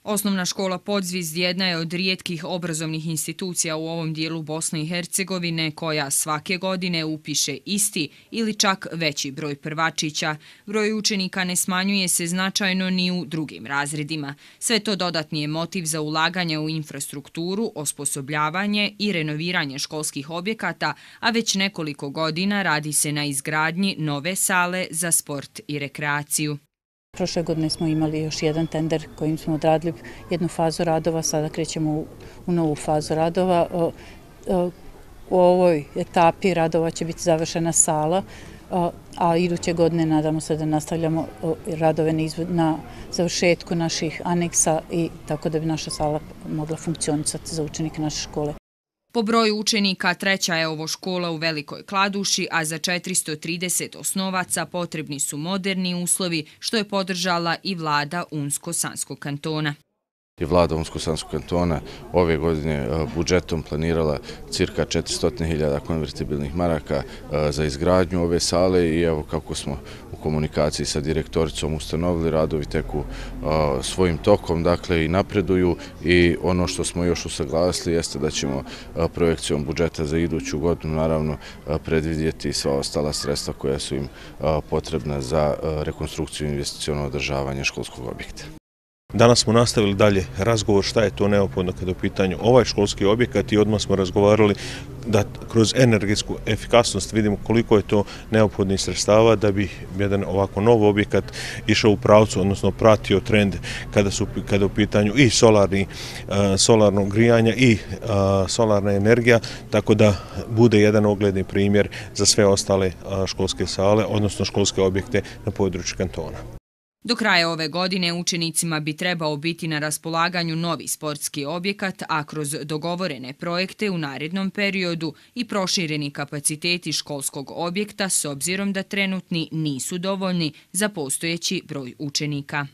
Osnovna škola Podzvizd jedna je od rijetkih obrazovnih institucija u ovom dijelu Bosne i Hercegovine koja svake godine upiše isti ili čak veći broj prvačića. Broj učenika ne smanjuje se značajno ni u drugim razredima. Sve to dodatni je motiv za ulaganje u infrastrukturu, osposobljavanje i renoviranje školskih objekata, a već nekoliko godina radi se na izgradnji nove sale za sport i rekreaciju. Prošle godine smo imali još jedan tender kojim smo odradili jednu fazu radova, sada krećemo u novu fazu radova. U ovoj etapi radova će biti završena sala, a iduće godine nadamo se da nastavljamo radove na završetku naših aneksa i tako da bi naša sala mogla funkcionisati za učenike naše škole. Po broju učenika treća je ovo škola u Velikoj Kladuši, a za 430 osnovaca potrebni su moderni uslovi, što je podržala i vlada Unsko-Sanskog kantona. Vlada Unsko-Sanskog kantona ove godine budžetom planirala cirka 400.000 konvertibilnih maraka za izgradnju ove sale i evo kako smo u komunikaciji sa direktoricom ustanovili, radovi teku svojim tokom, dakle i napreduju i ono što smo još usaglasili jeste da ćemo projekcijom budžeta za iduću godinu naravno predvidjeti sva ostala sredstva koja su im potrebna za rekonstrukciju i investiciono održavanje školskog objekta. Danas smo nastavili dalje razgovor šta je to neophodno kada je u pitanju ovaj školski objekat i odmah smo razgovarali da kroz energetsku efikasnost vidimo koliko je to neophodnih sredstava da bi jedan ovako nov objekat išao u pravcu, odnosno pratio trend kada je u pitanju i solarno grijanje i solarna energija, tako da bude jedan ogledni primjer za sve ostale školske sale, odnosno školske objekte na području kantona. Do kraja ove godine učenicima bi trebao biti na raspolaganju novi sportski objekat, a kroz dogovorene projekte u narednom periodu i prošireni kapaciteti školskog objekta s obzirom da trenutni nisu dovoljni za postojeći broj učenika.